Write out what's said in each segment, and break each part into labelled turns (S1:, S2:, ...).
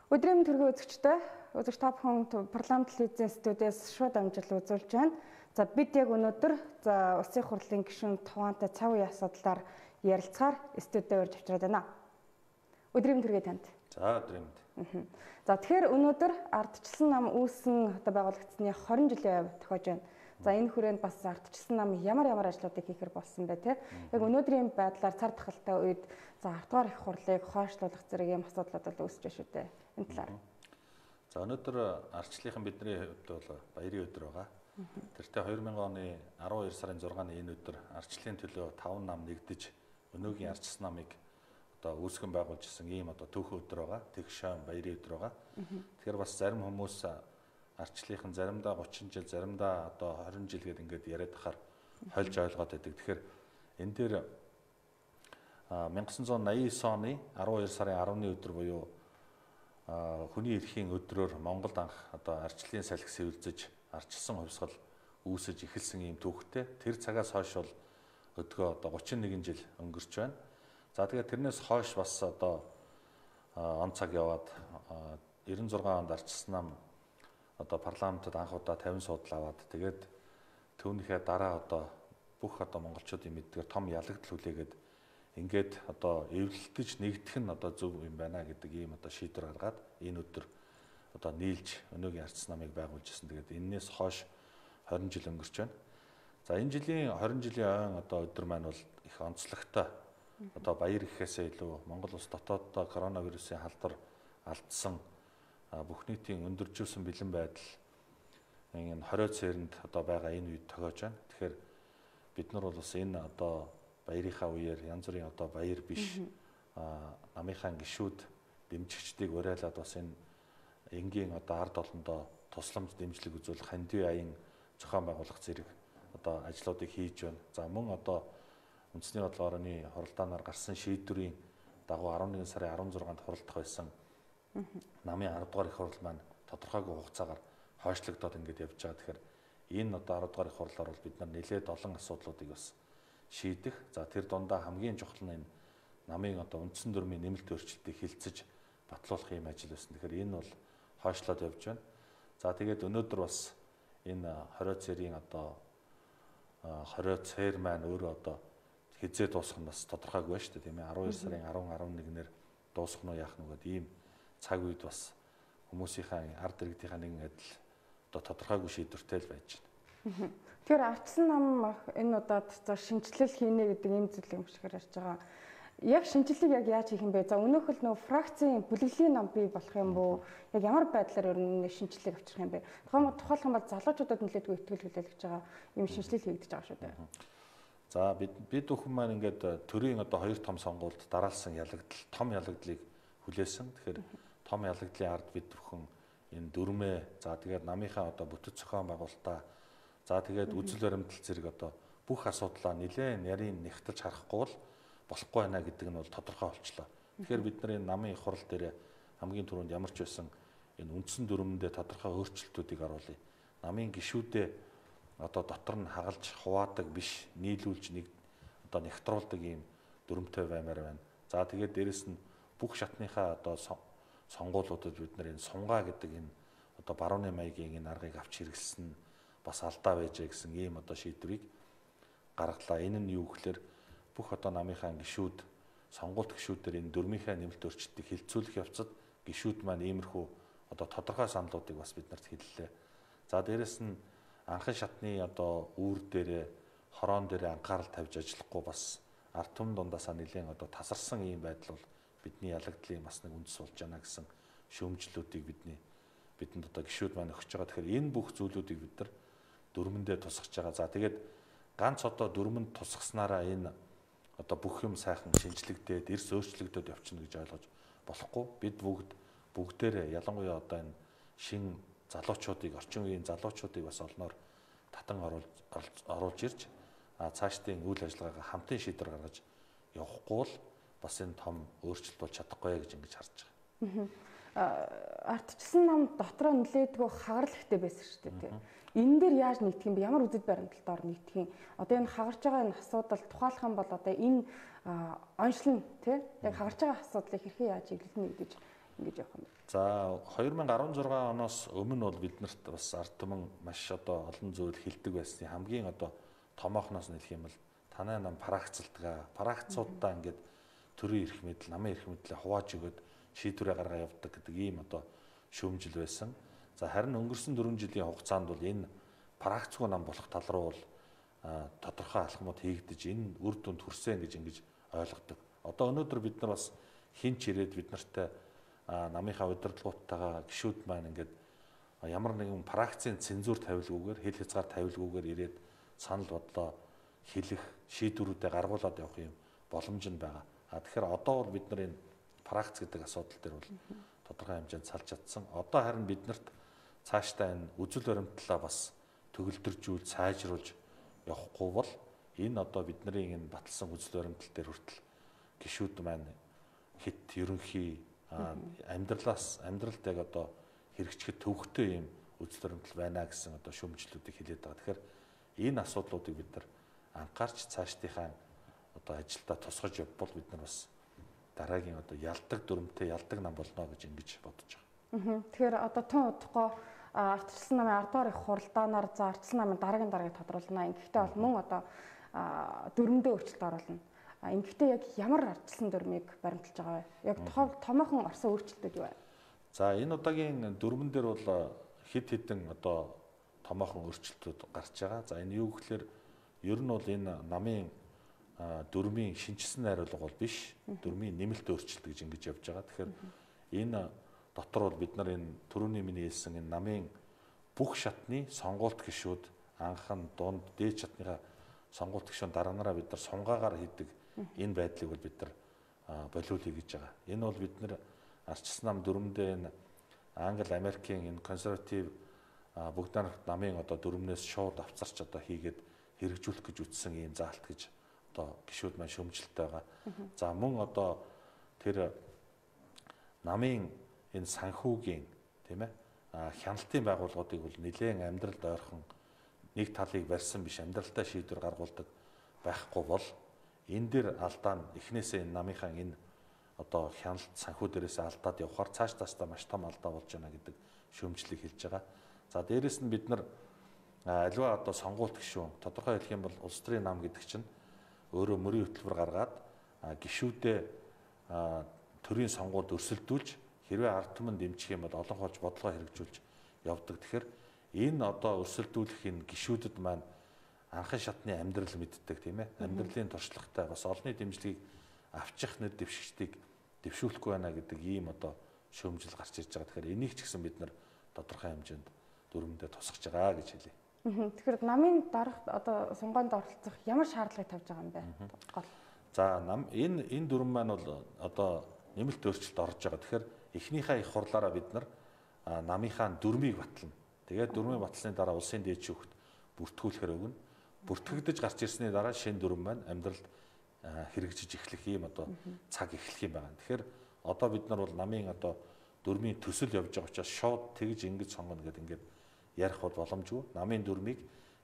S1: Өдрийн төргийн үзэгчтэй үзэгч та бүхэн парламент телевизийн студиэс шууд амжилт үзүүлж байна. За бид яг өнөөдөр улсын хурлын гишүүн Тухаантай цаг үеийн асуудлаар ярилцахаар студид урьж авчираад байна. Өдрийн төргийн танд.
S2: За өдрийн мэнд.
S1: За тэгэхээр өнөөдөр ардчилсан нам үүссэн байгуулагдсны 20 жилийн хувь тохиож байна. За энэ хүрээнд бас ардчилсан нам ямар ажлуудыг хийхэр болсон бэ те. Яг өнөөдрийн байдлаар цар тахалтай үед за 10 дугаар их хурлыг хойшлуулах зэрэг юм асуудлууд бол үүсэж байна шүү дээ. Энэ талаар.
S2: За өнөөдөр ардчлалын бидний хувьд бол баярын өдөр байгаа. Тэртээ 2000 оны 12 сарын 6-ны энэ өдөр ардчлалын төлөө 5 нам нэгдэж өнөөгийн ардчилсан намыг одоо үүсгэн байгуулж ирсэн ийм одоо түүхэн өдөр байгаа. Тэг шаан баярын өдөр байгаа. Тэгэхээр бас зарим хүмүүс ардчлалын заримдаа 30 жил, заримдаа одоо 20 жил гээд ингээд яриад ахаар хольж ойлгоод байдаг. Тэгэхээр энэ дээр 1989 оны 12 сарын 10-ны өдөр буюу хүний эрхийн өдрөөр Монголд анх одоо ардчлалын салхи сэвэлзэж ардчилсан хувьсгал үүсэж эхэлсэн ийм түүхтэй. Тэр цагаас хойш бол өдгөө одоо 31 жил өнгөрч байна. За тэгээд тэрнээс хойш бас одоо он цаг яваад 96 онд ардчилсан нам одоо парламентод анх удаа 50 судал аваад тэгээд түүнийхээ дараа одоо бүх одоо монголчуудын мэддгээр том ялагдал хүлээгээд ингээд одоо эвлэлдэж нэгдэх нь одоо зөв юм байна гэдэг ийм одоо шийдвэр гаргаад энэ өдөр одоо нийлж өнөөгийн ардчилсан намыг байгуулж ирсэн. Тэгээд энээс хойш 20 жил өнгөрч байна. За энэ жилийн 20 жилийн ойн одоо өдөр маань бол их онцлогтой. Одоо баяр гэхээсээ илүү Монгол улс дотооддоо коронавирусын халдвар алдсан бүх нийтийн өндөржүүлсэн бэлэн байдал энэ 20 цээрэнд одоо байгаа энэ үед тохиож байна. Тэгэхээр бид нар бол бас энэ одоо баярынхаа үеэр янз бүрийн одоо баяр биш намынхаа гишүүд дэмжигчдийг уриалаад бас энэ энгийн одоо ард олондоо тусламж дэмжлэг үзүүлэх хандив аян зохион байгуулах зэрэг одоо ажлуудыг хийж байна. За мөн одоо үндэсний бодлогын орны хуралдаанаар гарсан шийдвэрийн дагуу 11 сарын 16-нд хуралдах байсан намын 10 дугаар их хурал маань тодорхойгүй хугацаагаар хойшлогдоод ингээд явж байгаа. Тэгэхээр энэ одоо 10 дугаар их хурлаар бол бид нар нэлээд олон асуудлуудыг бас шийдэх. За тэр дундаа хамгийн чухал нь энэ намын одоо үндсэн дүрмийн нэмэлт өөрчлөлтийг хилцэж батлуулах юм ажил байсан. Тэгэхээр энэ бол хойшлоод явж байна. За тэгээд өнөөдөр бас энэ 20 цэрийн одоо 20 цэр маань өөрөө одоо хизээ дуусах нь бас тодорхойгүй байна шүү дээ, тийм ээ. 12 сарын 10, 11-нэр дуусах нь яах нүгэд ийм цаг үед бас хүмүүсийнхээ ард иргэдийнхээ нэгэн адил одоо тодорхойгүй шийдвэртэй л байж байна.
S1: Тэгэхээр ардчилсан нам энэ удаад шинжилэл хийнэ гэдэг ийм зүйл юм шиг харж байгаа. Яг шинжилгээг яг яаж хийх юм бэ? За өнөөхөл нөө фракцийн бүлэглэлийн нам бий болох юм бүү? Яг ямар байдлаар өрнө шинжилгээг авчрах юм бэ? Тухайлбал бол залуучуудад нэлээдгүй ихтгэл хүлээлгэж байгаа ийм шинжилэл хийгдэж байгаа шүү дээ.
S2: За бид бүхэн маань ингээд төрийн одоо хоёр том сонгуульд дараалсан ялагдал, том ялагдлыг хүлээсэн. Тэгэхээр том ялагдлын ард бид бүхэн энэ дүрмээ, за тэгээд намынхаа одоо бүтэц зохион байгуулалтаа, за тэгээд үзэл баримтлал зэрэг одоо бүх асуудлаа нэлээд нарийн нэгтэж харахгүй бол болохгүй байна гэдэг нь бол тодорхой болчлоо. Тэгэхээр бид нар энэ намын их хурал дээр хамгийн түрүүнд ямар ч байсан энэ үндсэн дүрмэндээ тодорхой өөрчлөлтүүдийг оруулъя. Намын гишүүдээ одоо дотор нь хагалж хуваадаг биш, нийлүүлж нэг одоо нэгтруулдаг ийм дүрмтэй баймаар байна. За тэгээд дээрэс нь бүх шатныхаа одоо сонгуулиудад бид нар энэ сунгаа гэдэг энэ одоо барууны маягийн энэ аргыг авч хэрэгэлсэн бас алдаа байжээ гэсэн ийм одоо шийдвэрийг гаргалаа. Энэ нь юу гэхээр бүх одоо намынхаа гишүүд, сонгуульт гишүүдээр энэ дүрмийнхаа нэмэлт өөрчлөлтийг хилцүүлэх явцад гишүүд маань иймэрхүү одоо тодорхой саналуудыг бас бид нарт хэллээ. За дээрэс нь анхан шатны одоо үүр дээрээ, хороон дээрээ анхаарал тавьж ажиллахгүй бас ард түмэн дундаасаа нэлээд одоо тасарсан ийм байдал бол бидний ялагдлын бас нэг үндэс болж байна гэсэн шүүмжлүүдийг бидэнд одоо гишүүд маань өгч байгаа. Тэгэхээр энэ бүх зүйлүүдийг бид нар дүрмэндээ тусгаж байгаа. За тэгээд ганц одоо дүрмэнд тусгаснараа энэ одоо бүх юм сайхан шинжлэгдээд эрс өөрчлөгдөд явчихна гэж ойлгож болохгүй. Бид бүгдээрээ ялангуяа одоо энэ шин залуучуудыг, орчин үеийн залуучуудыг бас олноор татан оруулж ирж цаашдын үйл ажиллагаагаа хамтын шийдвэр гаргаж явахгүй бол бас энэ том өөрчлөлт болж чадахгүй гэж ингэж харж байгаа.
S1: Ардчилсан нам дотроо нэлээдгүй хагарал ихтэй байсан шүү дээ. Энэ дээр яаж нэгдэх юм бэ? Ямар үзэл баримталтаар нэгдэх юм? Одоо энэ хагарч байгаа энэ асуудал тухайлах юм бол одоо энэ онцлон тий яг хагарч байгаа асуудлыг хэрхэн яаж чиглэлнэ гэж ингэж явах юм бэ?
S2: За 2016 оноос өмнө бол биднэрт бас ард түмэн маш одоо олон зүйл хэлдэг байсан. Хамгийн одоо томоохноос нь хэлэх юм бол танай нам парагцуудаа ингээд төрийн эрх мэдэл, намын эрх мэдлээ хувааж өгöd шийдвэрээ гаргаа явуулдаг гэдэг ийм одоо шүүмжил байсан. За харин өнгөрсөн 4 жилийн хугацаанд бол энэ парагцгүй нам болох тал руу бол тодорхой алхмууд хийгдэж энэ үр дүнд хүрсэн гэж ингэж ойлгодог. Одоо өнөөдөр бид нар бас хинч ирээд бид нартай намынхаа удирдлагуудтайгаа гишүүд маань ингээд ямар нэгэн парагцийн цензур тавилгүйгээр хэл хязгаар тавилгүйгээр ирээд санал бодлоо хэлэх шийдвэрүүдээ гаргуулад явах юм боломж нь байгаа. Тэгэхээр одоо бол бид нар энэ парагц гэдэг асуудал дээр бол тодорхой хэмжээнд салж чадсан. Одоо харин биднэрт цаашдаа энэ үзэл баримтлалаа бас төгөлдржүүл сайжруулж явахгүй бол энэ одоо бидний энэ баталсан үзэл баримтлал дээр хүртэл гишүүд маань хит ерөнхий амьдралд яг одоо хэрэгжихэд төвөгтэй юм үзэл баримтлал байна гэсэн одоо шүүмжлэлүүдийг хэлээд байгаа. Тэгэхээр энэ асуудлуудыг бид нар анхаарч цаашдынхаа одоо ажилдаа тусгаж явбал бид нар бас дараагийн одоо ялдаг дүрмтэй ялдаг нам болно гэж ингэж бодож байгаа.
S1: Тэгэхээр одоо тун удахгүй ардчилсан намын 10 дугаар их хуралдаанаар за ардчилсан намын дараагийн тодруулна. Ингэхдээ бол мөн одоо дүрмдээ өөрчлөлт оруулна. Ингэхдээ яг ямар ардчилсан дүрмийг баримталж байгаа вэ? Яг томоохон орсон өөрчлөлтүүд юу вэ?
S2: За энэ удаагийн дүрмэн дээр бол хэд хэдэн одоо томоохон өөрчлөлтүүд гарч байгаа. За энэ юу гэхээр ер нь бол энэ намын дүрмийн шинжилсэн найруулга бол биш. Дүрмийн нэмэлт өөрчлөлт гэж ингэж явж байгаа. Тэгэхээр энэ дотор бол бид нар энэ түрүүний миний хэлсэн энэ намын бүх шатны сонгуульт гишүүд анхан дунд дээд шатныхаа сонгуульт гишүүн дараагаараа бид нар сунгаагаар хийдэг энэ байдлыг бол бид нар болиулъя гэж байгаа. Энэ бол бид нар ардчилсан нам дүрмдээ энэ Англи, Америкийн энэ консерватив бүгд намын одоо дүрмнээс шууд авцарч одоо хийгээд хэрэгжүүлэх гэж үтсэн ийм заалт гэж одоо гишүүд маань шөмжөлтэй байгаа. За мөн одоо тэр намын энэ санхүүгийн тийм ээ хяналтын байгууллагуудыг бол нэлээд амьдралд ойрхон нэг талыг барьсан биш амьдралтай шийдвэр гаргуулдаг байхгүй бол энэ дээр алдаа нь эхнээсээ энэ намынхаа энэ одоо хяналт санхүү дээрээс алдаад явхаар цааш тастаа маш том алдаа болж байна гэдэг шүүмжлэлийг хэлж байгаа. За дээрэс нь бид нар аливаа одоо сонгуульт гишүүн тодорхой хэлэх юм бол улс төрийн нам гэдэг чинь өөрөө мөрийн хөтөлбөр гаргаад гишүүдээ төрийн сонгуульд өрсөлдүүлж хэрвээ ард түмэн дэмжих юм бол олон хоолж бодлого хэрэгжүүлж явдаг. Тэгэхээр энэ одоо өрсөлдүүлэх энэ гишүүдэд маань анхан шатны амьдрал мэддэг тийм ээ. Амьдралын туршлагатай бас олонний дэмжлэгийг авчих нэр дэвшигчдийг дэвшүүлэхгүй байна гэдэг ийм одоо шүүмжил гарч ирж байгаа. Тэгэхээр энийг ч гэсэн бид нар тодорхой хэмжээнд дүрмэндээ тусгаж байгаа гэж хэлье.
S1: Тэгэхээр намын дарах одоо сонгоонд оролцох ямар шаардлагыг тавьж байгаа юм бэ? Гол.
S2: За энэ дүрм маань бол одоо нэмэлт өөрчлөлт орж байгаа. Тэгэхээр эхнийхээ их хурлаараа бид нар намынхаа дүрмийг батлана. Тэгээд дүрмийг батлсны дараа улсын дээд шүүхт бүртгүүлэхээр өгнө. Бүртгэгдэж гарч ирсний дараа шинэ дүрм маань амьдралд хэрэгжиж эхлэх ийм одоо цаг эхлэх юм байна. Тэгэхээр одоо бид нар бол намын одоо дүрмийн төсөл явж байгаа учраас шууд тэгж ингэж сонгоно гэдэг ингээд ярих бол боломжгүй. Намын дүрмийг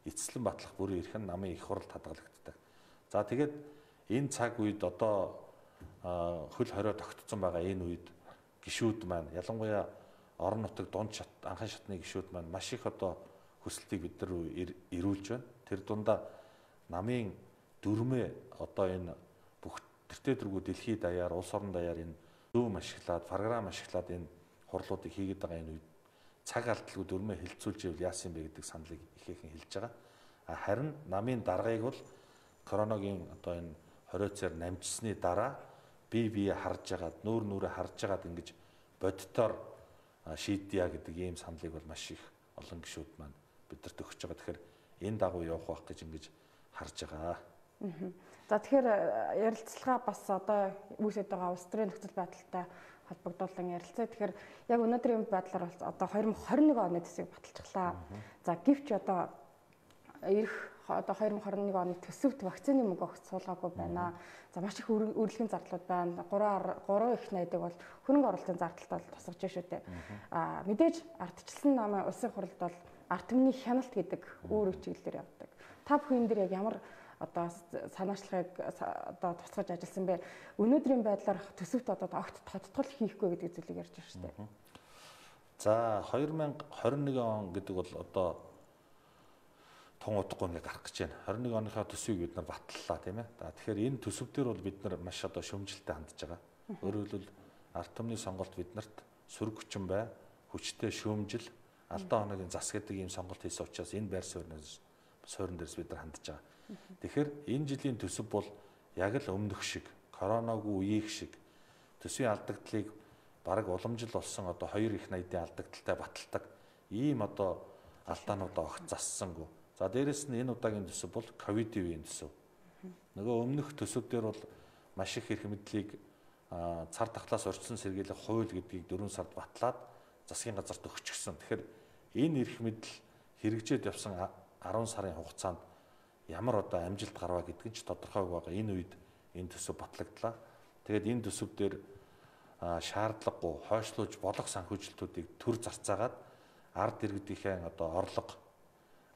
S2: эцэслэн батлах бүрийн эрх нь намын их хуралд хадгалагддаг. За тэгээд энэ цаг үед одоо хөл хорио тогтцсон байгаа энэ үед гишүүд маань ялангуяа орон нутаг дунд шат анхан шатны гишүүд маань маш их одоо хүсэлтийг бид нар ирүүлж байна. Тэр дундаа намын дүрмээ одоо энэ бүх тэртээ дэргүү дэлхийд даяар улс орон даяар энэ зүүн ашиглаад програм ашиглаад энэ хурлуудыг хийгээд байгаа энэ үед цаг алдалгүй дүрмээ хилцүүлж ивэл яасан бэ гэдэг саналыг ихээхэн хэлж байгаа. Харин намын даргаыг бол коронавигийн одоо энэ 20 цаар намжсны дараа бие харж агаад нүүрээ харж агаад ингэж боддоор шийдъя гэдэг ийм саналыг бол маш их олон гишүүд маань бидэрт өгч байгаа. Тэгэхээр энэ дагуу явах байх гэж ингэж харж байгаа.
S1: За тэгэхээр ярилцлага бас одоо үүсэж байгаа улс төрийн нөхцөл байдалтай холбогдуулан ярилцээ. Тэгэхээр яг өнөөдрийн байдлаар бол одоо 2021 оны төсвийг баталчихлаа. За гэвч одоо ирэх одоо 2021 оны төсөвт вакцины мөнгө огт суулгаагүй байна. За маш их үргэлжлэлийн зардлууд байна. 3 их найдаг бол хөрөнгө оруулалтын зардалтай бол тусгаж шүү дээ. Мэдээж ардчилсан намын улсын хурлд бол ард түмний хяналт гэдэг өөр чиглэлээр явдаг. Та бүхэн дээр яг ямар одоо санаачлагыг одоо тусгаж ажилласан бэ? Өнөөдрийн байдлаар төсөвт одоо огт тодтгол хийхгүй гэдэг зүйлийг ярьж байна шүү дээ.
S2: За 2021 он гэдэг бол одоо тун удахгүй ингээ гарах гэж байна. 21 оныхаа төсвийг бид нар батллаа тийм ээ. Тэгэхээр энэ төсөв дээр бол бид нар маш одоо шөмжилтэй хандж байгаа. Өөрөөр хэлбэл ард түмний сонголт биднэрт сөрөг хүчин бай, хүчтэй шөөмжил, алдаа оногийн зас гэдэг ийм сонголт хийсэн учраас энэ байр суурин дээрс бид нар хандж байгаа. Тэгэхээр энэ жилийн төсөв бол яг л өмнөх шиг, коронавигүй үеийг шиг төсвийн алдагдлыг бараг уламжил болсон одоо 2 их найдын алдагдaltaй баталдаг ийм одоо алдаануудаа огт зассангүй. За дээрэс нь энэ удаагийн төсөв бол ковидын үеийн төсөв. Нөгөө өмнөх төсөв дээр бол маш их эрх мэдлийг цар тахлаас урьдчилан сэргийлэх хууль гэдгийг 4 сард батлаад засгийн газарт өгчихсөн. Тэгэхээр энэ эрх мэдэл хэрэгжээд явсан 10 сарын хугацаанд ямар одоо амжилт гарваа гэдг нь ч тодорхой байгаа. Энэ үед энэ төсөв батлагдлаа. Тэгээд энэ төсөв дээр шаардлагагүй хойшлуулж болох санхүүжилтүүдийг төр зарцаагаад ард иргэдийнхээ одоо орлого,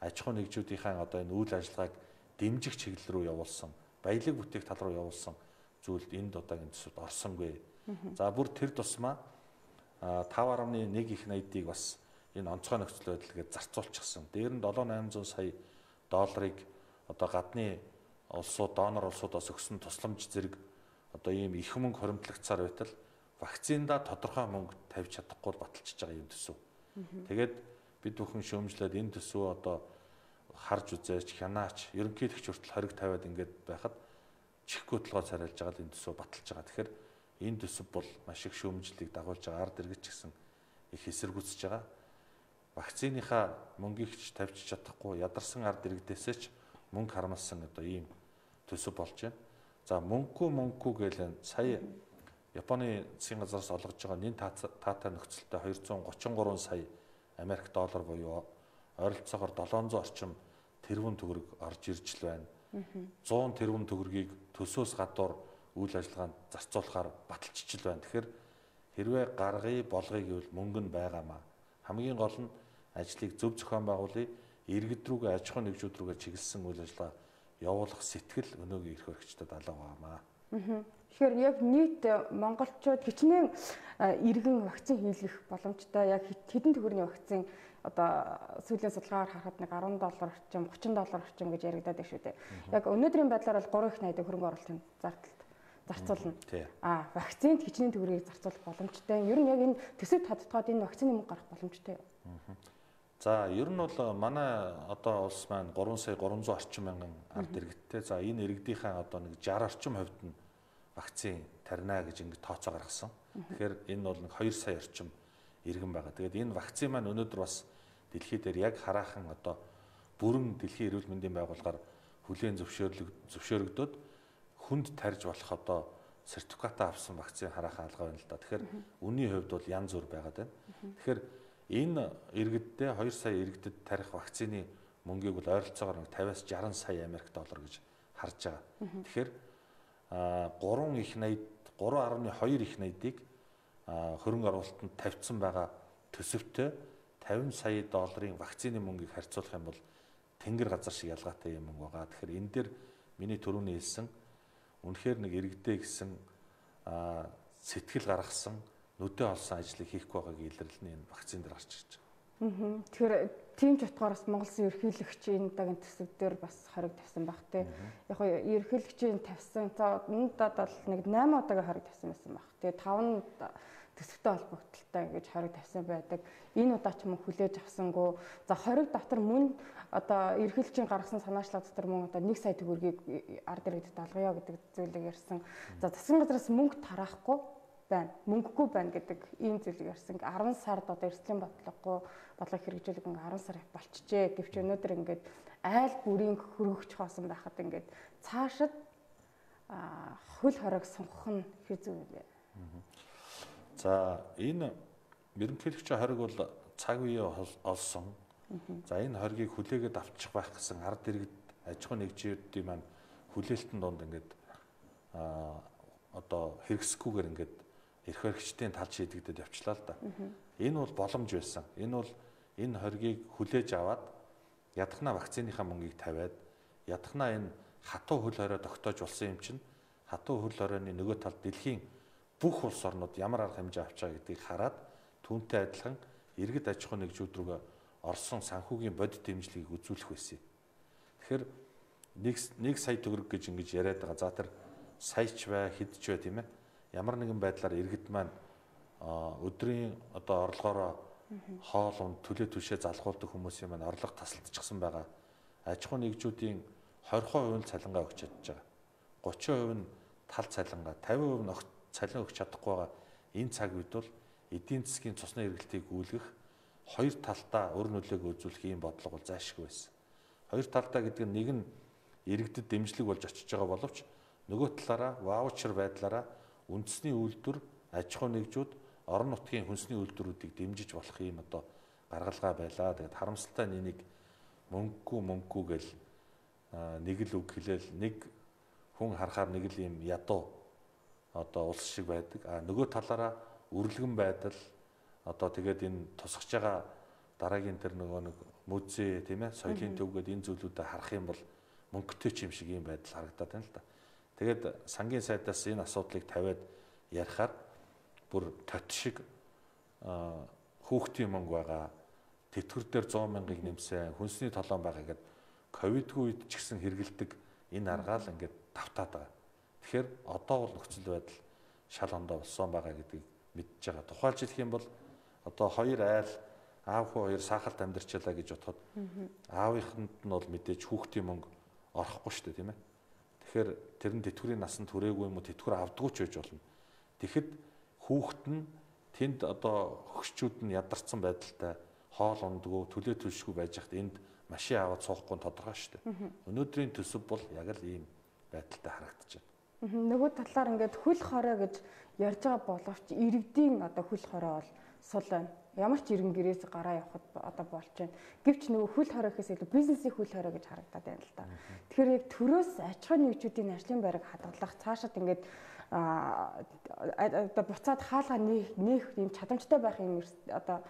S2: аж ахуй нэгжүүдийнхээ одоо энэ үйл ажиллагааг дэмжих чиглэл рүү явуулсан, баялаг бүтээх тал руу явуулсан зүйлд энд удаагийн төсөвд орсонгүй. За бүр тэр тусмаа 5.1 их найдыг бас энэ онцгой нөхцөл байдал гэж зарцуулчихсан. Дээр нь 7-800 сая долларыг одоо гадны улсууд, донор улсуудаас өгсөн тусламж зэрэг одоо ийм их мөнгө хоримтлагцаар байтал вакциндаа тодорхой мөнгө тавьж чадахгүй баталчихж байгаа юм төсөв. Тэгээд бид бүхэн шөөмжлээд энэ төсөө одоо харж үзээч, хянаач, ерөнхийлөгч хүртэл хориг тавиад ингээд байхад чихгүй толгой царайлж байгаа л энэ төсөө баталж байгаа. Тэгэхээр энэ төсөв бол маш их шөөмжлөлийг дагуулж байгаа, ард иргэд ч гэсэн их эсэргүүцэж байгаа. Вакциныхаа мөнгийг ч тавьж чадахгүй, ядарсан ард иргэдээсээ ч мөнгө харамлсан одоо ийм төсөв болж байна. За мөнгөгүй гэлэн сая Японы засгийн газраас олгож байгаа нэн таатай нөхцөлтэй 233 сая Америк доллар буюу ойролцоогоор 700 орчим тэрбум төгрөг орж ирж л байна. 100 тэрбум төгрөгийг төсөөс гадуур үйл ажиллагаанд зарцуулахаар баталчихж л байна. Тэгэхээр хэрвээ гаргая болгоё гэвэл мөнгө нь байгаамаа. Хамгийн гол нь ажлыг зөв зохион байгуулъя, иргэд рүүгээ аж ахуй нэгжүүд рүүгээ чиглэсэн үйл ажиллагаа явуулах сэтгэл өнөөгийн эрх баригчдад алга байгаамаа.
S1: Тэгэхээр яг нийт монголчууд хичнээн иргэн вакцин хийлгэх боломжтой. Яг хэдэн төгрөгийн вакцин одоо сүүлийн судалгаагаар харахад нэг $10 орчим, $30 орчим гэж яригадаад байна шүү дээ. Яг өнөөдрийн байдлаар бол 3 их найдаа хөрөнгө оруулалтын зарцуулна. Вакцинд хичнээн төгрөгийг зарцуулах боломжтой. Ер нь яг энэ төсөвт хадтгаад энэ вакцины мөнгө гарах боломжтой юу?
S2: За ер нь бол манай одоо улс маань 3 сая 300 орчим мянган ард иргэдтэй. За энэ иргэдийнхээ одоо нэг 60 орчим хувьд нь вакцин тарина гэж ингэ тооцоо гаргасан. Тэгэхээр энэ бол нэг 2 сая орчим иргэн байгаа. Тэгээд энэ вакцин маань өнөөдөр бас дэлхий дээр яг хараахан одоо бүрэн дэлхийн эрүүл мэндийн байгууллагаар хүлээн зөвшөөрөгдөд хүнд тарж болох одоо сертификатаа авсан вакцин хараахан алгаа байна л да. Тэгэхээр үнийн хувьд бол янз бүр байгаад байна. Тэгэхээр энэ иргэддээ 2 сая иргэдэд тарих вакцины мөнгийг бол ойролцоогоор 50-60 сая Америк доллар гэж харж байгаа. Тэгэхээр 3.2 их найдыг хөрөнгө оруулалтанд тавьсан байгаа төсөвтэй 50 сая долларын вакцины мөнгийг харьцуулах юм бол тэнгэр газар шиг ялгаатай юм байгаа. Тэгэхээр энэ дээр миний түрүүний хэлсэн үнэхээр нэг иргэдээ гэсэн сэтгэл гаргасан нүдэ олсон ажлыг хийхгүй байгааг илэрлэл нь энэ вакцин дээр гарч ирж байгаа.
S1: Тэгэхээр тийм ч утгаараас Монгол Улсын ерөнхийлөгчийн удаагийн төсөв дээр бас хориг тавьсан баг тий. Яг нь ерөнхийлөгчийн тавьсан надад бол нэг 8 удаагийн хориг тавьсан байсан баг. Тэгээ 5 төсөвтэй холбогдолтой гэж хориг тавьсан байдаг. Энэ удаа ч мөн хүлээж авсангүй. За хориг дотор мөн одоо ерөнхийлөгчийн гаргасан санаачлал дотор мөн одоо 1 сая төгрөгийг ард иргэдэд алгая гэдэг зүйлийг ярьсан. За засгийн газраас мөнгө тараахгүй байна. Мөнгөгүй байна гэдэг ийм зүйлийг ярьсан. 10 сард одоо эрсдлийн бодлого хэрэгжүүлэг 10 сар болчихжээ. Гэвч өнөөдөр ингээд айл бүрийн хөргөгч хоосон байхад ингээд цаашид хөл хориг сунгах нь хэр зүг вэ?
S2: За энэ ерөнхийлөгчийн хориг бол цаг үеэ олсон. За энэ хоригийг хүлээгээд авчих байх гэсэн ард иргэд аж ахуй нэгжүүдийн маань хүлээлтэн донд ингээд одоо хэрэгсэхгүйгээр ингээд эрх баригчдын тал шийдэгдээд явчлаа л да. Энэ бол боломж байсан. Энэ бол энэ хоригийг хүлээж аваад ядахна вакциныхаа мөнгийг тавиад ядахна энэ хатуу хөл хорой тогтоож болсон юм чинь хатуу хөл хоройны нөгөө талд дэлхийн бүх улс орнууд ямар арга хэмжээ авч байгаа гэдгийг хараад түүнтэй адилхан иргэд аж ахуй нэгжүүд рүү орсон санхүүгийн бодит дэмжлэгийг үзүүлэх байсан. Тэгэхээр 1 сая төгрөг гэж ингэж яриад байгаа. За тэр саяч бай, хэдж бай тийм ээ. Ямар нэгэн байдлаар иргэд маань өдрийн одоо орлогоороо хоол унд төлөө түшээ залгуулдаг хүмүүсийн маань орлого тасалдчихсан байгаа. Аж ахуй нэгжүүдийн 20% нь цалингаа өгч чадж байгаа. 30% нь тал цалингаа, 50% нь огт цалин өгч чадахгүй байгаа. Энэ цаг үед бол эдийн засгийн цусны эргэлтийг гүйлгэх хоёр талдаа өр нөлөөгөө үзүүлэх ийм бодлого бол зайлшгүй байсан. Хоёр талдаа гэдэг нь нэг нь иргэдэд дэмжлэг болж очиж байгаа боловч нөгөө талаараа ваучер байдлаараа үндэсний үйлдвэр, аж ахуй нэгжүүд, орон нутгийн хүнсний үйлдвэрүүдийг дэмжиж болох ийм одоо гаргалгаа байлаа. Тэгээд харамсалтай нэг мөнгөгүй гэл нэг л үг хэлээл нэг хүн харахаар нэг л ийм ядуу одоо улс шиг байдаг. Нөгөө талаараа үрлэгэн байдал одоо тэгээд энэ тусгаж байгаа дараагийн тэр нөгөө нэг музей тийм ээ соёлын төв гэдэг энэ зүйлүүдэд харах юм бол мөнгөтэй ч юм шиг ийм байдал харагдаад байна л да. Тэгээд сангийн сайдаас энэ асуудлыг тавиад ярихаар бүр тот шиг хүүхдийн мөнгө байгаа, тэтгэр дээр 100 мянгаыг нэмсэн, хүнсний толон байгаа гэдэг ковидгүй үед ч гэсэн хэрэгэлдэг энэ аргаал ингээд давтаад байгаа. Тэгэхээр одоо бол нөхцөл байдал шал ондоо болсон байгаа гэдгийг мэдж байгаа. Тухайлж хэлэх юм бол одоо хоёр айл аав хүү хоёр сахалт амьдарчлаа гэж бодоход аавынханд нь бол мэдээж хүүхдийн мөнгө орохгүй шүү дээ тийм ээ. Тэгэхээр тэр нь тэтгэврийн насанд хүрээгүй юм уу тэтгэвэр авдаггүй ч байж болно. Тэгэхэд хүүхэд нь тэнд одоо хөгшчүүд нь ядарсан байдалтай хоол ундгүй төлөө төлшгүй байж хат энд машин аваад суухгүй тодорхой шүү дээ. Өнөөдрийн төсөв бол яг л ийм байдалтай харагдаж байна.
S1: Нөгөө талаар ингээд хөл хорой гэж ярьж байгаа боловч иргэдийн одоо хөл хорой бол сул байна. Ямар ч иргэн гэрээс гараа явахад одоо болж байна. Гэвч нөгөө хөл хорой гэхээс илүү бизнесийн хөл хорой гэж харагдаад байна л да. Тэгэхээр яг төрөөс аж ахуй нэгжүүдийн ажлын байрыг хадгалах цаашаад ингээд одоо буцаад хаалга нээх юм чадамжтай байх юм одоо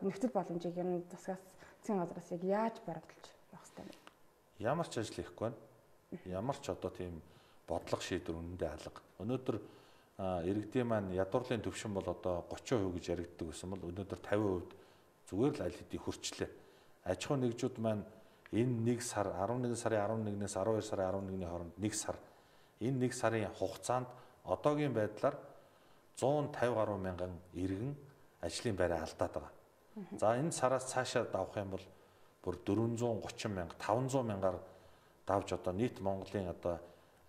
S1: нөхцөл боломжийг юм засгаас засгийн газраас яг яаж баримталж явах хэрэгтэй вэ?
S2: Ямар ч ажил хийхгүй байна. Ямар ч одоо тийм бодлого шийдвэр үнэндээ алга. Өнөөдөр иргэдийн маань ядуурлын төвшин бол одоо 30% гэж яригддаг гэсэн бол өнөөдөр 50% зүгээр л аль хэдийн хүрчлээ. Аж ахуй нэгжүүд маань энэ 1 сар 11 сарын 11-ээс 12 сарын 11-ний хооронд 1 сар энэ 1 сарын хугацаанд одоогийн байдлаар 150 гаруй мянган иргэн ажлын байраа алдаад байгаа. За энэ сараас цаашаа давах юм бол бүр 430 мянга 500 мянгаар давж одоо нийт Монголын одоо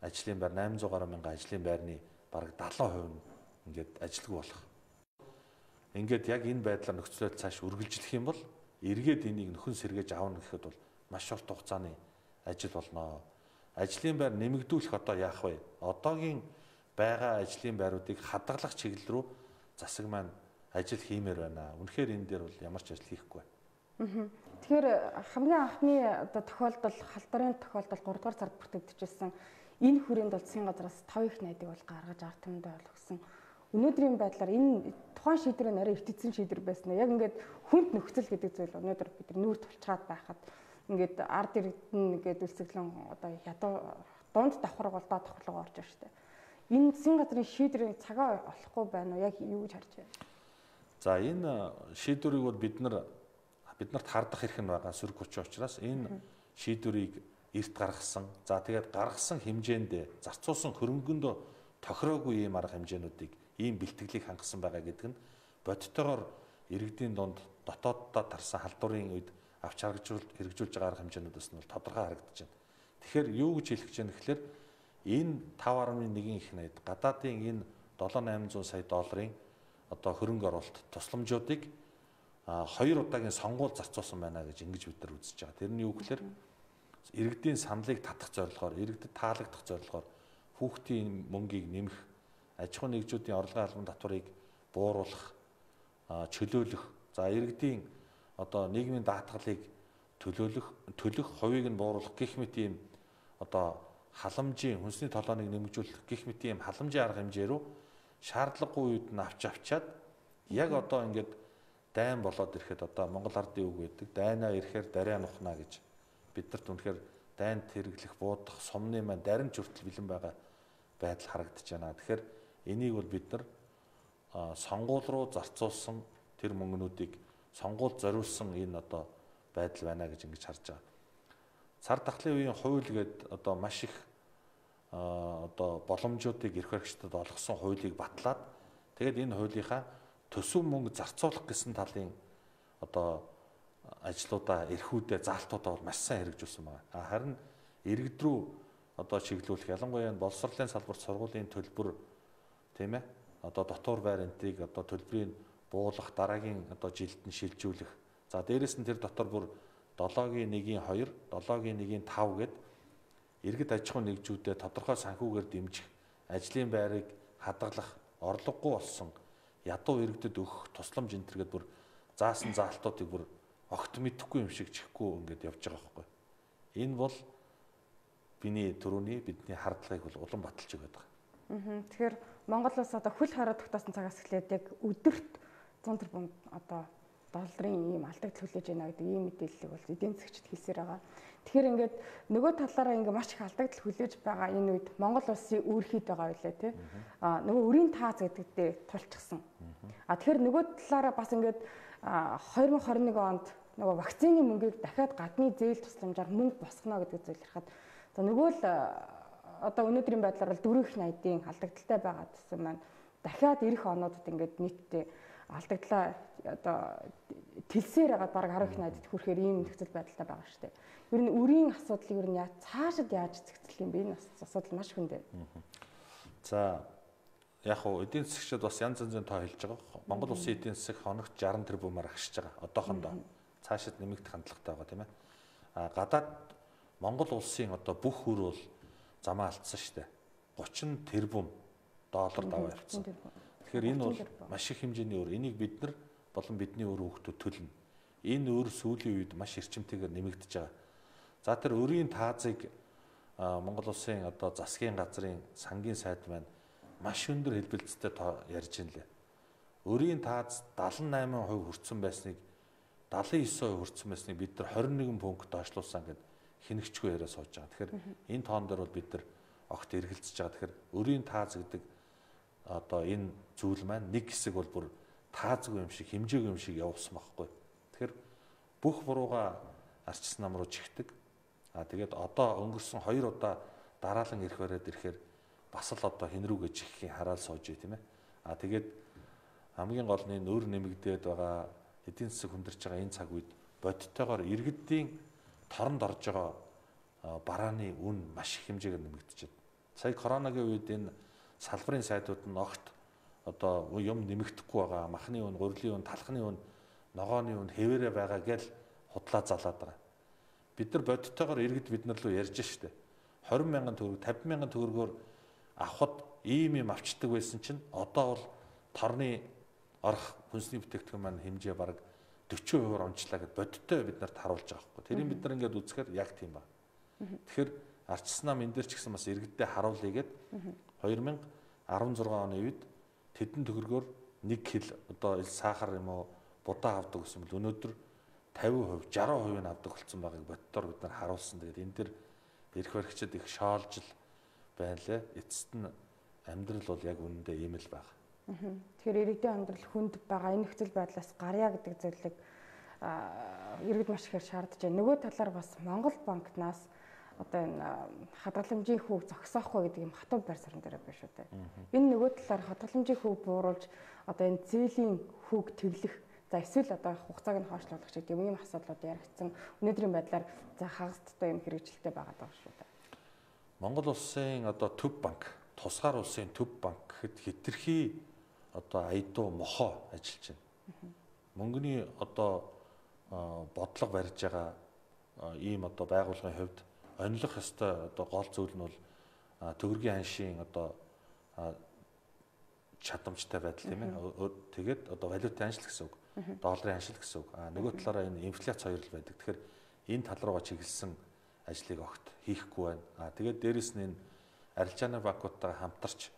S2: ажлын байр 800 гаруй мянган ажлын байрны бараг 70% нь ингээд ажилгүй болох. Ингээд яг энэ байдлаар нөхцөлөд цааш үргэлжлэх юм бол эргээд энийг нөхөн сэргээж аавна гэхэд бол маш урт хугацааны ажил болно. Ажлын байр нэмэгдүүлэх одоо яах вэ? Одоогийн байгаа ажлын байруудыг хадгалах чиглэл рүү засаг маань ажил хиймээр байна. Үнэхээр энэ дээр бол ямар ч ажил хийхгүй байна.
S1: Тэгэхээр хамгийн анхны одоо тохиолдол халдварын тохиолдол 3 дугаар сард бүртгэгдчихсэн. Энэ хүрээнд бол засгийн газраас 5 их найдыг бол гаргаж ард түмэндээ болгосон. Өнөөдрийн байдлаар энэ тухайн шийдвэр нарийн эртцсэн шийдвэр байсан. Яг ингээд хүнд нөхцөл гэдэг зүйл өнөөдөр бид нүүр тулчгаад байхад ингээд ард иргэдэн ингээд үлсгэлэн одоо ядуу дунд давхар голдоо давхарлага орж байна шүү дээ. Энэ засгийн газрын шийдвэрийн цагаа олохгүй байна уу? Яг юу гэж харж байна?
S2: За энэ шийдвэрийг бол биднэрт хардах хэрэг нь байгаа сөрөг хүч учраас энэ шийдвэрийг эрт гаргасан. За тэгээд гаргасан хэмжээнд зарцуулсан хөрөнгөнд тохироогүй ийм арга хэмжээнүүдийг ийм бэлтгэлийг хангасан байгаа гэдэг нь бодтойгоор иргэдийн дунд дотооддоо тарсан халдварын үед авч хэрэгжүүлж байгаа арга хэмжээнүүдээс нь бол тодорхой харагдаж байна. Тэгэхээр юу гэж хэлэх гэж байна гэхээр энэ 5.1 их найд гадаадын энэ 7-800 сая долларын одоо хөрөнгө оруулалт тусламжуудыг 2 удаагийн сонгуул зарцуулсан байна гэж ингэж бид нар үзэж байгаа. Тэр нь юу гэхээр иргэдийн саналыг татах зорилгоор, иргэдэд таалагдах зорилгоор хүүхдийн мөнгийг нэмэх, аж ахуй нэгжүүдийн орлогын албан татварыг бууруулах, чөлөөлөх, за иргэдийн одоо нийгмийн даатгалыг төлөх хувийг нь бууруулах гэх мэт ийм одоо халамжийн хүнсний толгойг нэмэгдүүлэх гэх мэт ийм халамжийн арга хэмжээ рүү шаардлагагүй үед нь авчаад яг одоо ингээд дайн болоод ирэхэд одоо Монгол ардын үг гэдэг дайнаа ирэхээр дариа нухна гэж биднэрт үнэхээр дайнд хэрэглэх, буудах, сумны маань даримт хүртэл бэлэн байгаа байдал харагдаж байна. Тэгэхээр энийг бол бид нар сонгуул руу зарцуулсан тэр мөнгнүүдийг сонгуульд зориулсан энэ одоо байдал байна гэж ингэж харж байгаа. Цар тахлын үеийн хууль гээд одоо маш их одоо боломжуудыг эрх баригчдад олгосон хуулийг батлаад тэгээд энэ хуулийнхаа төсөв мөнгө зарцуулах гэсэн талын одоо ажлуудаа эрхүүдээ заалтуудаа бол маш сайн хэрэгжүүлсэн байна. Харин иргэд рүү одоо чиглүүлэх ялангуяа боловсролын салбарт сургуулийн төлбөр тийм ээ одоо дотор байр энтрийг одоо төлбөрийг буулгах дараагийн одоо жилд нь шилжүүлэх. За дээрэс нь тэр дотор бүр 7-гийн 1-ийн 2, 7-гийн 1-ийн 5 гэд иргэд аж ахуйн нэгжүүдэд тодорхой санхүүгээр дэмжих, ажлын байрыг хадгалах, орлогогүй болсон ядуу иргэдэд өгөх тусламж энтергээд бүр заасан заалтуудыг бүр огт мэдэхгүй юм шиг чихгүй ингээд явж байгаа байхгүй. Энэ бол бидний бидний хардлагыг бол улам баталж өгöd байгаа.
S1: Тэгэхээр Монгол улс одоо хөл хорой тогтоосон цагаас эхлээд яг өдөрт 100 тэрбум одоо долларын ийм алдагдал хүлээж байна гэдэг ийм мэдээллийг бол эдийн засгчид хэлсээр байгаа. Тэгэхээр ингээд нөгөө талаараа ингээд маш их алдагдал хүлээж байгаа энэ үед Монгол улсын үүрхийд байгаа байлаа тий. Нөгөө өрийн таац гэдэг дээр тулчихсан. Тэгэхээр нөгөө талаараа бас ингээд 2021 онд нөгөө вакцины мөнгийг дахиад гадны зээл тусламжаар мөнгө босгоно гэдэг зүйл ярихад за нөгөө л одоо өнөөдрийн байдлаар бол 4/80-ийн алдагдaltaй байгаа гэсэн маань дахиад ирэх онуудад ингээд нийтдээ алдагдлаа одоо тэлсээр хагаад бараг 10/80-д хүрэхээр ийм нөхцөл байдалтай байгаа шүү дээ. Ер нь үрийн асуудлыг ер нь цаашид яаж зэгцлэх юм бэ? Энэ асуудал маш хүнд байна.
S2: За яг хуу эдийн засгчид бас янз янзын тоо хэлж байгаа. Монгол улсын эдийн засаг хоногт 60 тэрбумаар агшиж байгаа. Одоохондоо цаашид нэмэгдэх хандлагатай байгаа тийм ээ. Гадаад Монгол улсын одоо бүх хөр бол замаа алдсан шүү дээ. 30 тэрбум доллар даваа явцсан. Тэгэхээр энэ бол маш их хэмжээний өр. Энийг бид нар болон бидний өр хүүхдүүд төлнө. Энэ өр сүүлийн үед маш эрчимтэйгээр нэмэгдэж байгаа. За тэр өрийн таазыг Монгол улсын одоо засгийн газрын сангийн сайд маань маш өндөр хэлбэлцтэй ярьж байна лээ. Өрийн тааз 78% хүрсэн байсныг 79% хүрсэн байсныг бид нар 21 пункт доошлуулсан гэд хинэгчгүй яриа сууж байгаа. Тэгэхээр энэ тоон дээр бол бид нар огт эргэлзэж байгаа. Тэгэхээр өрийн тааз гэдэг одоо энэ зүйл маань нэг хэсэг бол бүр таазгүй юм шиг, хэмжээгүй юм шиг явуулсан байхгүй. Тэгэхээр бүх бурууга арчис нам руу чихдэг. Тэгээд одоо өнгөрсөн 2 удаа дараалан ирэх бариад ирэхээр бас л одоо хэн рүүгээ чиххийн хараал сууж бай тийм ээ. Тэгээд хамгийн гол нь өр нэмэгдээд байгаа эдийн засаг хүндэрч байгаа энэ цаг үед бодиттойгоор иргэдийн торонд орж байгаа барааны үн маш их хэмжээгээр нэмэгдэж байна. Сая коронагийн үед энэ салбарын сайдууд нь огт одоо юм нэмэгдэхгүй байгаа. Махны үн, гурилын үн, талхны үн, ногооны үн хэвээрээ байгаа гэж худлаа залаад байгаа. Бид нар бодиттойгоор иргэд бид нар руу ярьж штэ. 20 мянган төгрөг, 50 мянган төгрөгөөр авахд ийм юм авчдаг байсан чинь одоо бол торны орох хүнсний бүтээгдэхүүн маань хэмжээ бараг 40% онцлаа гэд бодиттой бид нарт харуулж байгаа хгүй. Тэрийг бид нар ингээд үзэхээр яг тийм ба. Тэгэхээр арчис нам энэ дээр ч гэсэн бас иргэддээ харуулъя гэд 2016 оны үед тэдэн төгрөгөөр 1 кг одоо сахар юм уу будаа авдаг гэсэн бол өнөөдөр 50%, 60% нь авдаг болсон байгааг боддоор бид нар харуулсан. Тэгээд энэ дэр эрх баригчид их шоолж л байна лээ. Эцэст нь амьдрал бол яг үнэндээ ийм л байна.
S1: Тэгэхээр иргэдийн амьдрал хүнд байгаа энэ нөхцөл байдлаас гарья гэдэг зүйлийг иргэд маш ихээр шаардж байна. Нөгөө талаар бас Монгол банкнаас одоо энэ хадгаламжийн хүүг зогсоохгүй гэдэг юм хатуу байр суурин дээр байна шүү дээ. Энэ нөгөө талаар хадгаламжийн хүүг бууруулж одоо энэ зээлийн хүүг тэглэх за эсвэл одоо хугацааг нь хойшлуулах ч гэдэг юм асуудлууд яригдсан. Өнөөдрийн байдлаар за хагасдтай юм хэрэгжилтэй байгаа даа шүү дээ.
S2: Монгол улсын одоо төв банк, тусгаар улсын төв банк гэхэд хэтэрхий одоо айдуу мохоо ажиллаж байна. Мөнгөний одоо бодлого барьж байгаа ийм одоо байгууллагын хувьд онилох ёстой одоо гол зүйл нь бол төгрөгийн аншийн одоо чадамжтай байдал тийм ээ. Тэгээд одоо валютын аншил гэсэн үг. Долларын аншил гэсэн үг. Нөгөө талаараа энэ инфляц хоёр л байдаг. Тэгэхээр энэ тал руугаа чиглэсэн ажлыг огт хийхгүй байна. Тэгээд дээрэс нь энэ арилжааны банкуудтайгаа хамтарч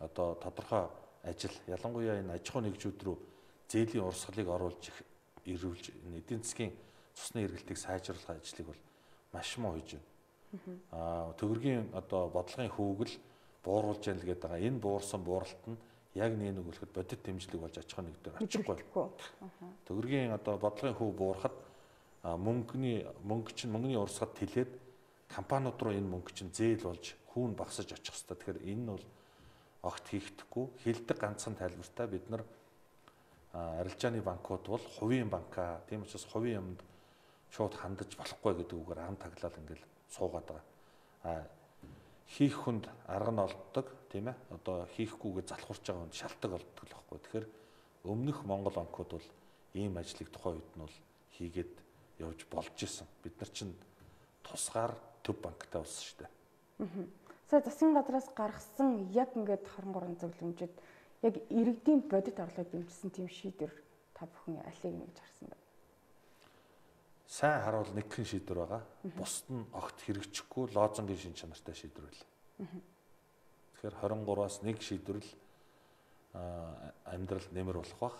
S2: одоо тодорхой ажил ялангуяа энэ аж ахуй нэгжүүд рүү зээлийн урсгалыг оруулж ирүүлж энэ эдийн засгийн цусны эргэлтийг сайжруулах ажлыг бол маш муу хийж байна. Төгрөгийн одоо бодлогын хүүгэл бууруулж ял гэдэг байгаа. Энэ буурсан бууралт нь яг нэг үлэхэд бодит дэмжлэг болж аж ахуй нэгдээр очихгүй. Төгрөгийн одоо бодлогын хүү буурахад мөнгөний урсгал тэлээд компаниуд руу энэ мөнгө чинь зээл болж хүүн багсаж очих хэвээр. Тэгэхээр энэ нь бол огт хийхдэггүй. Хилдэг ганцхан тайлбартай бид нар арилжааны банкуд бол хувийн банка. Тийм учраас хувийн юмд шууд хандаж болохгүй гэдэг үгээр ам таглал ингээл суугаад байгаа. Хийх хүнд арга нь олддог, тийм ээ. Одоо хийхгүйгээ залхуурч байгаа хүнд шалтгаан олддог л байхгүй. Тэгэхээр өмнөх Монгол банкуд бол ийм ажлыг тухайн үед нь бол хийгээд явж болж исэн. Бид нар чинь тусгаар төв банктай болсон шүү дээ.
S1: Сая засгийн газраас гаргасан яг ингээд 23 зөвлөмжөд яг иргэдийн бодит орлогыг дэмжсэн тийм шийдвэр та бүхэн алийг нэгж харсан байна.
S2: Сайн харуул нэг хэн шийдвэр байгаа. Бусд нь огт хэрэгжихгүй лозунгийн шин чанартай шийдвэр байл. Тэгэхээр 23-аас нэг шийдвэрл амьдрал нэмэр болох бах.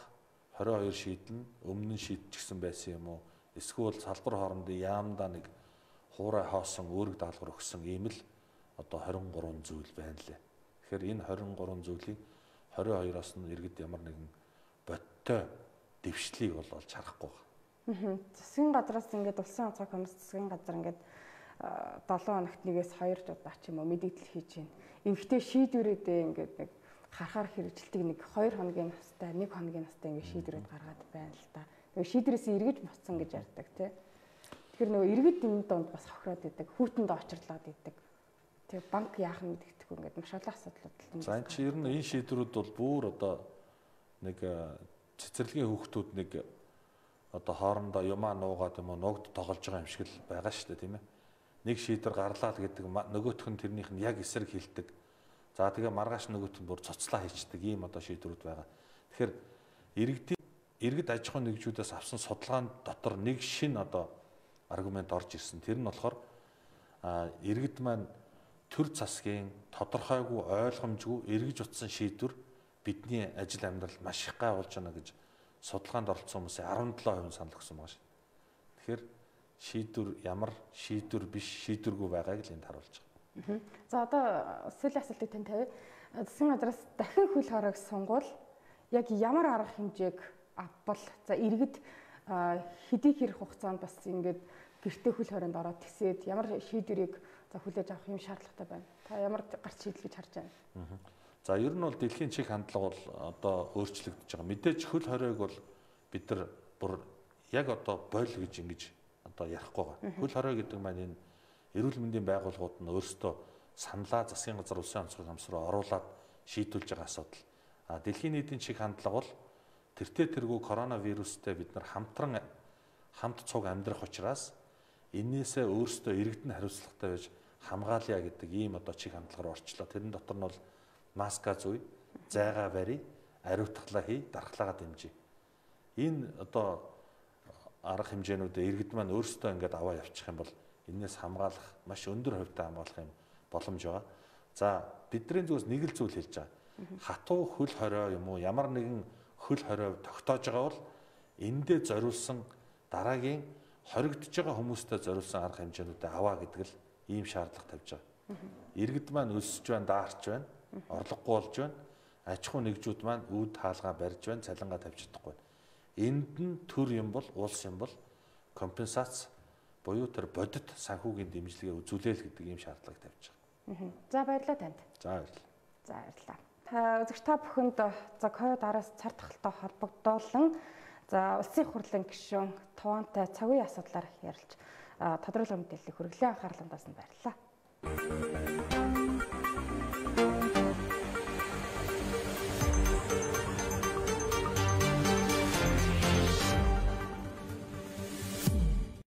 S2: 22 шийдэл нь өмнө нь шийдчихсэн байсан юм уу? Эсвэл салбар хоорондын яамдаа нэг хуурай хоосон үүрэг даалгавар өгсөн ийм л одоо 23 зүйл байна лээ. Тэгэхээр энэ 23 зүйлийг 22-оос нь иргэд ямар нэгэн бодтой дэвшлийг бол олж харахгүй байна.
S1: Засгийн газраас ингээд улсын онцгой комисс засгийн газар ингээд 7 хоногт нэгээс 2 удаа ч юм уу мэдээлэл хийж байна. Ингээдтэй шийдвэрүүдээ ингээд нэг харахаар хэрэгжилтийг нэг 2 хоногийн настай, 1 хоногийн настай ингээд шийдвэрүүд гаргаад байна л да. Тэгээ шийдвэрээс эргэж буцсан гэж ярьдаг тий. Тэгэхээр нөгөө иргэд энэ донд бас хохироод идэг, хүүтэнд очирлаад идэг. Тэгээ банк яах нь мэддэхгүй ингээд маш олон асуудлууд л.
S2: За энэ чи ер нь энэ шийдвэрүүд бол бүр одоо нэг цэцэрлэгийн хүүхдүүд нэг одоо хоорондоо юмаа нуугаад юм уу ногд тоглож байгаа юм шиг л байгаа шүү дээ тийм ээ. Нэг шийдвэр гарлаа л гэдэг нөгөөх нь тэрнийх нь яг эсрэг хилдэг. За тэгээ маргааш нөгөөх нь бүр цоцлаа хийчдэг ийм одоо шийдвэрүүд байгаа. Тэгэхээр иргэд аж ахуйн нэгжүүдээс авсан судалгаанд дотор нэг шин одоо аргумент орж ирсэн. Тэр нь болохоор иргэд маань төр засгийн тодорхойгүй ойлгомжгүй эргэж утсан шийдвэр бидний ажил амьдрал маш их гай болж байна гэж судалгаанд оролцсон хүмүүсийн 17% санал өгсөн байгаа шүү. Тэгэхээр шийдвэр ямар шийдвэр биш шийдвэргүй байгааг л энд харуулж байгаа.
S1: За одоо сүүлийн асуултыг тань тавь. Засгийн газраас дахин хөл хоройг сунгуул яг ямар арга хэмжээг авбал за иргэд хэдий хэрэг хугацаанд бас ингээд гэртээ хөл хорионд ороод тисээд ямар шийдвэрийг за хүлээж авах юм шаардлагатай байна. Та ямар гарч шийдэл гэж харж байна?
S2: За ер нь бол дэлхийн чиг хандлага бол одоо өөрчлөгдөж байгаа. Мэдээж хөл хоройг бол бид нар бүр яг одоо бойл гэж ингэж одоо ярихгүй байгаа. Хөл хорой гэдэг маань энэ эрүүл мэндийн байгууллагууд нь өөрсдөө саналаа засгийн газар улсын онцгой комисс руу оруулаад шийдүүлж байгаа асуудал. Дэлхийн нийтийн чиг хандлага бол тэртээ тэргүй коронавирустэй бид нар хамт цуг амьдрах учраас энээсээ өөрсдөө иргэдэн хариуцлагатай байж хамгаалъя гэдэг ийм одоо чиг хандлагаар орчлоо. Тэрэн дотор нь бол маска зүй, зайгаа барь, ариутгалаа хий, дархлаагаа дэмжиж. Энэ одоо арга хэмжээнүүдээ иргэд маань өөрсдөө ингээд аваа явчих юм бол энээс хамгаалах маш өндөр хувьтай хамгаалах юм боломж байгаа. За бидний зүгээс нэг л зүйл хэлж байгаа. Хатуу хөл хорой юм уу ямар нэгэн хөл хорой тогтоож байгаа бол эндээ зориулсан дараагийн хоригдож байгаа хүмүүстээ зориулсан арга хэмжээнүүдээ аваа гэдэг л ийм шаардлага тавьж байгаа. Иргэд маань өсөж байна, даарч байна, орлогогүй болж байна. Аж ахуй нэгжүүд маань үүд хаалгаа барьж байна, цалингаа тавьж чадахгүй. Энд нь төр юм бол улс юм бол компенсац буюу тэр бодит санхүүгийн дэмжлэгээ үзүүлээл гэдэг ийм шаардлагыг тавьж байгаа.
S1: За баярлалаа танд.
S2: За баярлалаа.
S1: За баярлалаа. Үзэгч та бүхэнд за ковид араас цар тахалтай холбогдуулан за улсын их хурлын гишүүн Тувантай цаг үеийн асуудлаар ярилж тодорхойлол мэдээллийг хүргэлэн анхаарландаас нь баярлалаа.